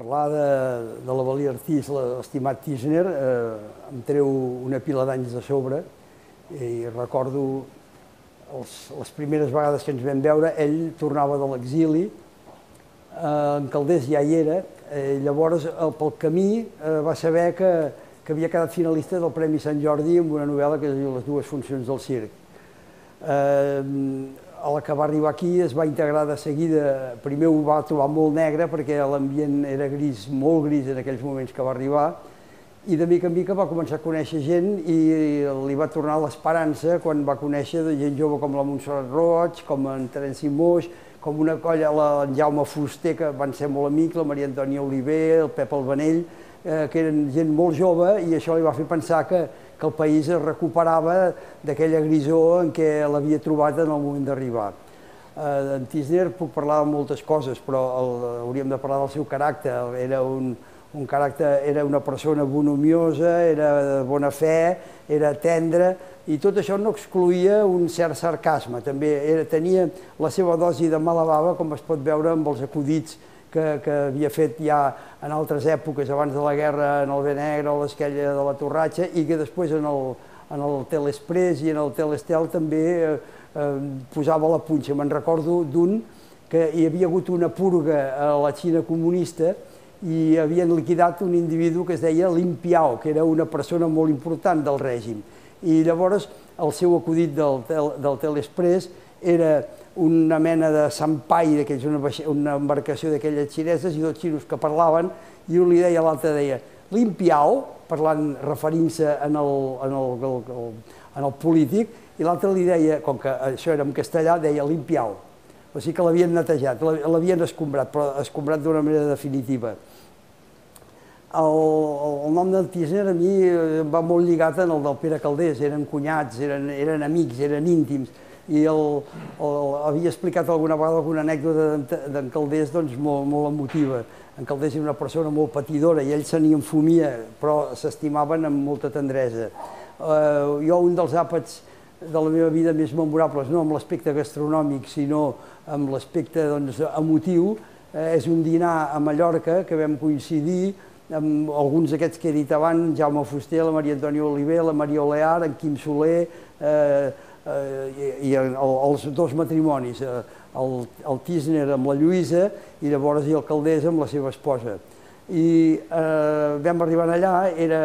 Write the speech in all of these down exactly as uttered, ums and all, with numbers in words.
parlar de, de la Valia Artís, l'estimat Tísner, eh, em treu una pila d'anys de sobre i recordo els, les primeres vegades que ens vam veure, ell tornava de l'exili, eh, en Calders ja hi era, eh, llavors el, pel camí eh, va saber que, que havia quedat finalista del Premi Sant Jordi amb una novel·la que es diu Les dues funcions del circ. Eh, a la que va arribar aquí es va integrar de seguida, primer ho va trobar molt negre perquè l'ambient era gris, molt gris en aquells moments que va arribar, i de mica en mica va començar a conèixer gent i li va tornar l'esperança quan va conèixer gent jove com la Montserrat Roig, com en Terenci Moix, com una colla, en Jaume Fuster, que van ser molt amics, la Maria Antònia Oliver, el Pep Albanell, eh, que eren gent molt jove, i això li va fer pensar que que el país es recuperava d'aquella grisor en què l'havia trobat en el moment d'arribar. Eh, en Tísner puc parlar de moltes coses, però el, hauríem de parlar del seu caràcter. Era, un, un caràcter, era una persona bonomiosa, era de bona fe, era tendre, i tot això no excloïa un cert sarcasme. També era, tenia la seva dosi de mala bava, com es pot veure amb els acudits que, que havia fet ja en altres èpoques, abans de la guerra, en el Bé Negre, a l'Esquella de la Torratxa, i que després en el, en el Telexpress i en el Telestel també eh, eh, posava la punxa. Me'n recordo d'un que hi havia hagut una purga a la Xina comunista i havien liquidat un individu que es deia Lin Piao, que era una persona molt important del règim. I llavors el seu acudit del, del Telexpress era una mena de sampai, una, una embarcació d'aquelles xineses, i dos xinos que parlaven, i un li deia a l'altre, deia Lin Piao, parlant, referint-se en, el, en, el, el, en el polític, i l'altre li deia, com que això era en castellà, deia Lin Piao. O sigui que l'havien netejat, l'havien escombrat, però escombrat d'una manera definitiva. El, el nom del Tísner a mi em va molt lligat en el del Pere Calders, eren cunyats, eren, eren amics, eren íntims, i el, el, havia explicat alguna vegada alguna anècdota d'en Calders doncs, molt, molt emotiva. En Calders era una persona molt patidora i ell se n'hi enfumia, però s'estimaven amb molta tendresa. Uh, jo, un dels àpats de la meva vida més memorables, no amb l'aspecte gastronòmic, sinó amb l'aspecte doncs, emotiu, eh, és un dinar a Mallorca que vam coincidir amb alguns d'aquests que he dit abans, Jaume Fuster, la Maria Antònia Oliver, la Maria Olear, en Quim Soler, eh, i els dos matrimonis, el, el Tísner amb la Lluïsa i llavors i el Calders amb la seva esposa. I eh, vam arribar allà, era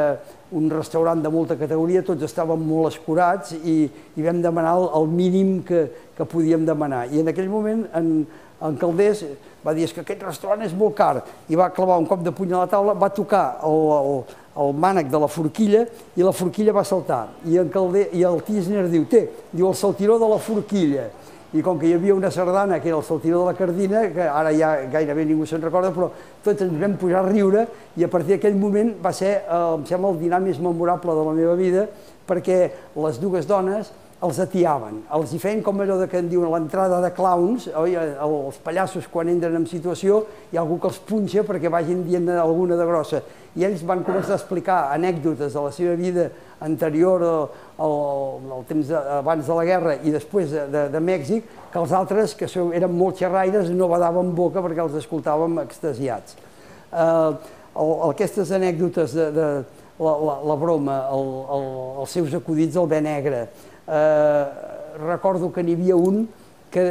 un restaurant de molta categoria, tots estàvem molt escurats i, i vam demanar el, el mínim que, que podíem demanar. I en aquell moment en, en Calders va dir que aquest restaurant és molt car i va clavar un cop de puny a la taula, va tocar el, el, el mànec de la forquilla i la forquilla va saltar. I, en Calder, i el Tísner diu, té, diu el saltiró de la forquilla. I com que hi havia una sardana que era el saltiró de la Cardina, que ara ja gairebé ningú se'n recorda, però tots ens vam pujar a riure i a partir d'aquell moment va ser, eh, em sembla, el dinar més memorable de la meva vida, perquè les dues dones els atiaven, els hi feien com allò que en diuen l'entrada de clowns, oi? Els pallassos quan entren en situació hi ha algú que els punxa perquè vagin dient alguna de grossa, i ells van començar a explicar anècdotes de la seva vida anterior al, al temps de, abans de la guerra i després de, de, de Mèxic, que els altres, que eren molt xerraires, no badaven boca perquè els escoltàvem extasiats. Eh, el, aquestes anècdotes de, de la, la, la broma, el, el, els seus acudits al Bé Negre, Eh, recordo que n'hi havia un que,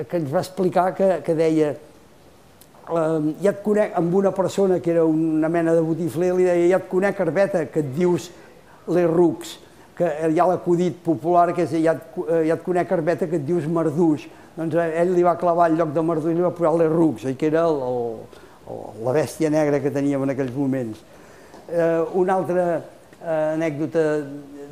que ens va explicar que, que deia eh, ja et conec, amb una persona que era una mena de botifler, li deia ja et conec, Arbeta, que et dius les rucs, que hi ha l'acudit popular que és ja et, ja et conec, Arbeta, que et dius Marduix. Doncs ell li va clavar el lloc de Marduix i li va posar les rucs, que era el, el, la bèstia negra que teníem en aquells moments. Eh, una altra eh, anècdota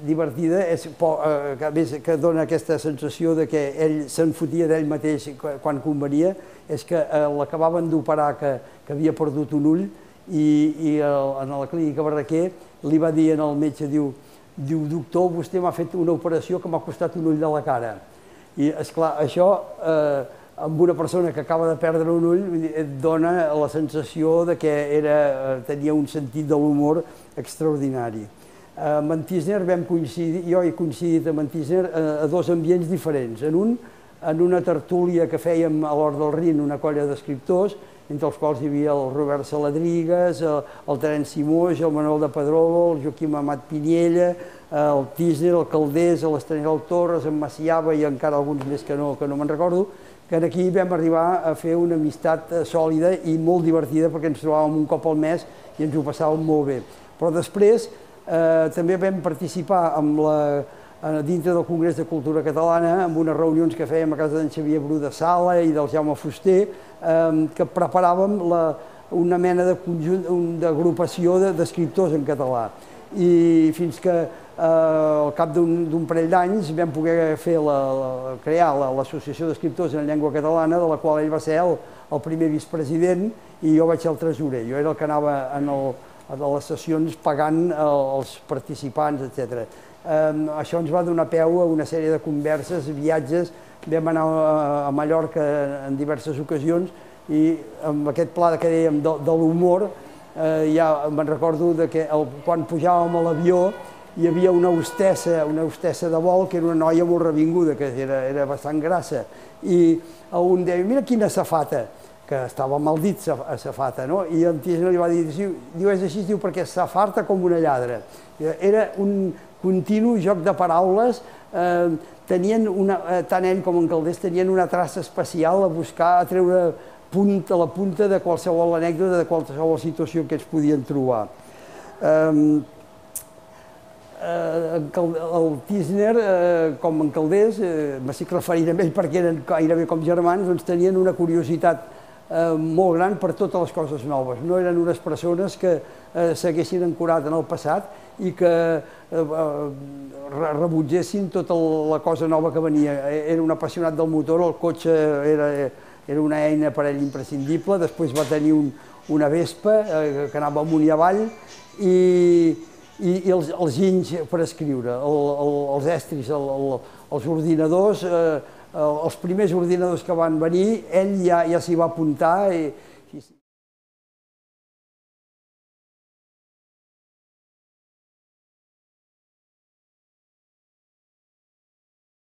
divertida, és, eh, que dona aquesta sensació de que ell se'n fotia d'ell mateix quan convenia, és que eh, l'acabaven d'operar que, que havia perdut un ull i, i el, en la clínica Barraquer li va dir al metge, diu, diu doctor, vostè m'ha fet una operació que m'ha costat un ull de la cara. I, esclar, això, eh, amb una persona que acaba de perdre un ull, et dona la sensació de que era, tenia un sentit de l'humor extraordinari. Amb en Tísner vam coincidir, jo he coincidit amb en Tísner a dos ambients diferents. En un, en una tertúlia que fèiem a l'Hort del Rin, una colla d'escriptors, entre els quals hi havia el Robert Saladrigas, el Terenci Moix, el Manuel de Pedrolo, el Joaquim Amat Piniella, el Tisner, el Caldés, l'Estaniol Torres, en Maciaba i encara alguns més que no, que no me'n recordo, que aquí vam arribar a fer una amistat sòlida i molt divertida perquè ens trobàvem un cop al mes i ens ho passàvem molt bé. Però després eh, també vam participar amb la, dintre del Congrés de Cultura Catalana amb unes reunions que fèiem a casa d'en Xavier Bru de Sala i del Jaume Fuster, eh, que preparàvem la, una mena de conjunt, d'agrupació d'escriptors en català. I fins que eh, al cap d'un parell d'anys vam poder fer la, la, crear l'Associació d'Escriptors en Llengua Catalana, de la qual ell va ser el, el primer vicepresident i jo vaig ser el tresorer. Jo era el que anava en el, a les sessions pagant els participants, etcètera. Eh, això ens va donar peu a una sèrie de converses, viatges, vam anar a Mallorca en diverses ocasions i amb aquest pla que dèiem de, de l'humor, eh, ja me'n recordo de que el, quan pujàvem a l'avió hi havia una hostessa, una hostessa de vol que era una noia molt revinguda, que era, era bastant grassa, i un deia, mira quina safata, que estava mal dit, safata, no? I en Tisner li va dir, diu, és així, diu, perquè s'afarta com una lladra. Era un continu joc de paraules, eh, tenien una, eh, tant ell com en Caldés tenien una traça especial a buscar, a treure punt a la punta de qualsevol anècdota, de qualsevol situació que ells podien trobar. Eh, eh, el Tisner, eh, com en Caldés, eh, m'estic referint a ell perquè eren gairebé com germans, doncs tenien una curiositat Eh, molt gran per totes les coses noves. No eren unes persones que eh, s'haguessin ancorat en el passat i que eh, rebutgessin tota la cosa nova que venia. Era un apassionat del motor, el cotxe era, era una eina per ell imprescindible, després va tenir un, una Vespa eh, que anava amunt i avall i, i, i els, els ginys per escriure, el, el, els estris, el, el, els ordinadors, eh, els primers ordinadors que van venir, ell ja, ja s'hi va apuntar i,